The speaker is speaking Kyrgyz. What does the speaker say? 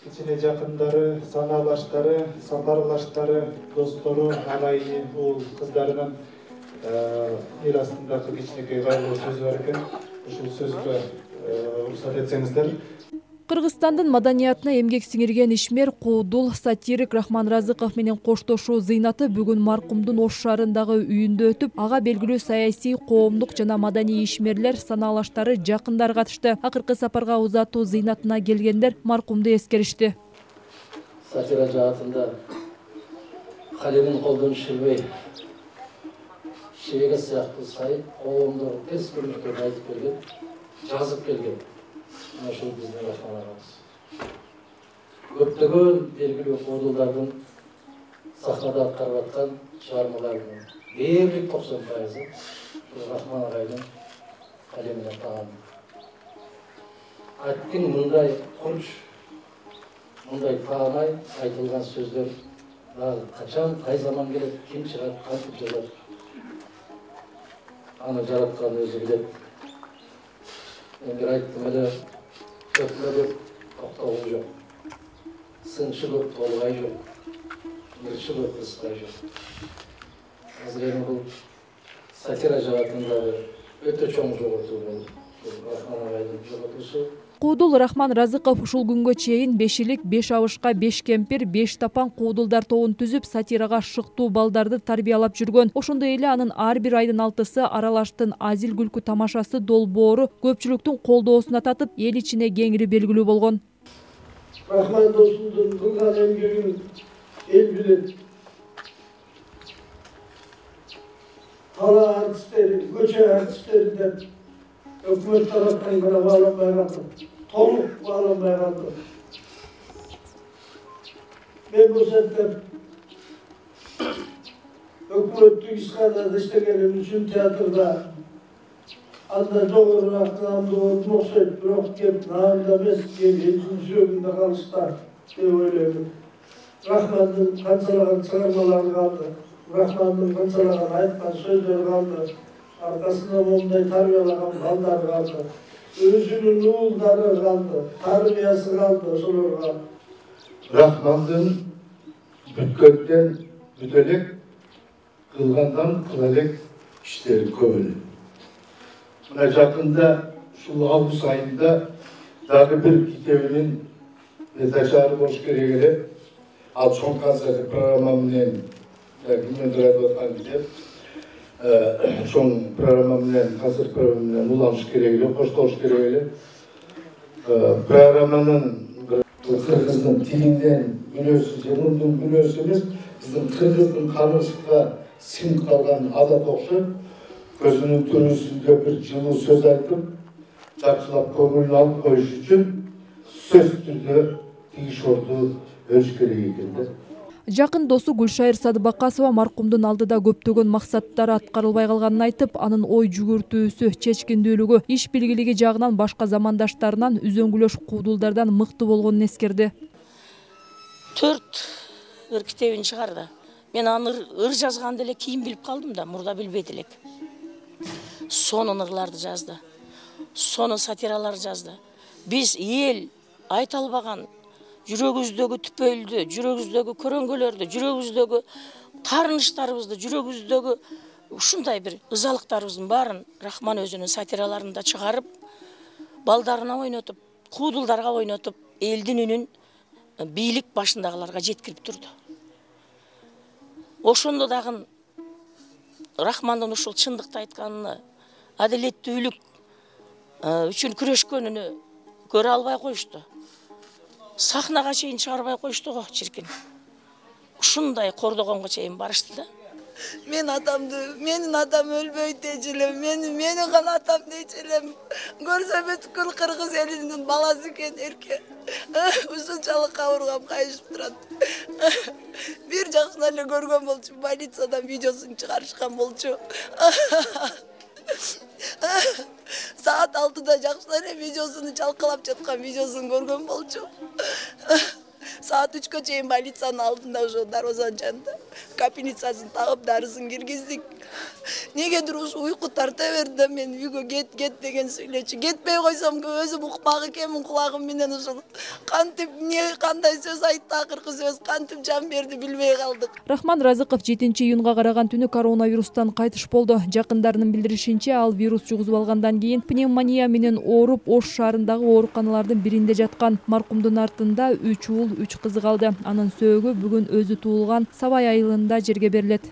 кичине жакындары, санаалаштары, сапарлаштары, достору, алайы, уул кыздарынын эл астындагы кичинекей кайгылуу сөзү бар экен. Ушул сөзгө уруксат этсеңиздер. Кыргызстандын маданиятына эмгек сиңирген ишмер, куудул, сатирик Рахман Разыков менен коштошуу зыйнаты бүгүн маркумдун Ош шаарындагы үйүндө өтүп, ага белгилүү саясий, коомдук жана маданий ишмерлер, санаалаштары, жакындар катышты. Акыркы сапарга узатуу зыйнатына келгендер маркумду эскеришти. Сатира жаатында калемин колдон түшүрбөй, шеге сыяктуу сай коомдор терс көрүнүштөрүн айтып келген, жазып келген. Ошол биздин Рахман агабыз. Көптөгөн белгилүү куудулдардын сахнада аткарып аткан чыгармаларынын дээрлик 90% Рахман агайдын калемине таан. Айттың мындай курч, мындай таанай айтылган сөздөр качан, кай заман келет, ким чыгат, кантип жазат. Аны жараткан өзү билет. Мен бир айттым эле, көпмө көп токтогу жок. Сынчы көп толгай жок. Мырчы көп ыскай жок. Азыр эми бул сатира жаатындагы өтө чоң жоготуу болуп, Рахман агайдын жоготуусу. Куудул Рахман Разыков ушул күнгө чейин 5 илик, 5 абышка, 5 кемпир, 5 тапан куудулдар тобун түзүп, сатирага шыктуу балдарды тарбиялап жүргөн. Ошондой эле анын ар бир айдын 6-сы аралаштын азил күлкү тамашасы долбоору көпчүлүктүн колдоосуна татып, эл ичине кеңири белгилүү болгон. Рахман досумдун кылган эмгегин эл билет. Кала артисттери, көчө артисттери деп өкмөт тараптан гана бааланбай калды. Толук бааланбай калды. Мен бул сәтте өкмөттүк ишканада иштегеним үчүн театрда анда жогорураак наамды болуп окшойт, бирок кеп наамда эмес, элдин жүрөгүндө калыштар деп ойлоймун. Рахмандын канчалаган чыгармалары калды, Рахмандын канчалаган айткан сөздөрү калды. Arkasında momday tarbiyaлаган балдары калды. Өзүнүн уулдары калды, тарбиясы калды ошолорго. Рахмандын бүткөндөн бүт элек, кылгандан кыла элек иштери көп эле. Мына жакында ушул август айында дагы бир китебинин чыгарып болуш керек эле. Ал чоң концерт программа менен кимдир айтып аткан китеп. Чоң программа менен, концерт программа менен уланыш керек эле, коштолуш керек эле. Программанын кыргыздын тилинден мүнөзү, жемундун мүнөзү эмес, биздин кыргыздын каныбызга сиңип калган адат окшойт. Көзүнүн түрүсүндө бир жылуу сөз айтып, жакшылап көңүлүн алып коюш үчүн сөзсүз түрдө тигиш орду өлүш керек экен да. Жакын досу Гүлшайыр Садыбакасова маркумдун алдыда көптөгөн максаттары аткарылбай калганын айтып, анын ой жүгүртүүсү, чечкиндүүлүгү, иш билгилиги жагынан башка замандаштарынан үзөңгүлөш куудулдардан мыкты болгонун эскерди. 4 ыр китебин чыгарды. Мен аны ыр жазганда эле кийин билип калдым да, мурда билбейт элек. Сонун ырларды жазды. Сону сатиралар жазды. Биз эл айта албаган жүрөгүбүздөгү түпөйлдү, жүрөгүбүздөгү көрөңгөлөрдү, жүрөгүбүздөгү таарыныштарыбызды, жүрөгүбүздөгү ушундай бир ызалыктарыбыздын баарын Рахман өзүнүн сатираларында чыгарып, балдарына ойнотуп, куудулдарга ойнотуп, элдин үнүн бийлик башындагыларга жеткирип турду. Ошондо дагы Рахмандын ушул чындыкты айтканын, адилеттүүлүк үчүн күрөшкөнүнү көрө албай коюшту. Сахнага чейин чыгарбай коюшту го, чиркин. Ушундай кордогонго чейин барышты да. Мен атамды, менин атам өлбөйт дейчү элем, мени гана атам дейчү элем. Көрсө бүткүл кыргыз элинин баласы экен эрке. Ушунчалык кабыргам кайышып турат. Бир жакшынан эле көргөн болчу, больницадан видеосун чыгарышкан болчу. Saat 6'da жакшылар видеосун чалкалап жаткан видеосун көргөн болчу. Saat 3'кө чейин больницанын алдында ошо дарбазанын жанында капельницасын тагып дарысын киргиздик. Негедир ушу уйку тарта берди да мен үйгө кет деген сүйлөчү. Кетпей койсом өзүм укпак экенмин, кулагым менен ушул кантип кандай сөз айтты, акыркы сөз кантип жан берди билбей калдык. Рахман Разыков 7-июнга караган түнү коронавирустан кайтыш болду. Жакындарынын билдиришинче, ал вирус жугузуп алгандан кийин пневмония менен ооруп Ош шаарындагы ооруканалардын биринде жаткан. Маркумдун артында 3 уул, 3 кызы калды. Анын сөөгү бүгүн өзү туулган Сабай айылында жерге берилет.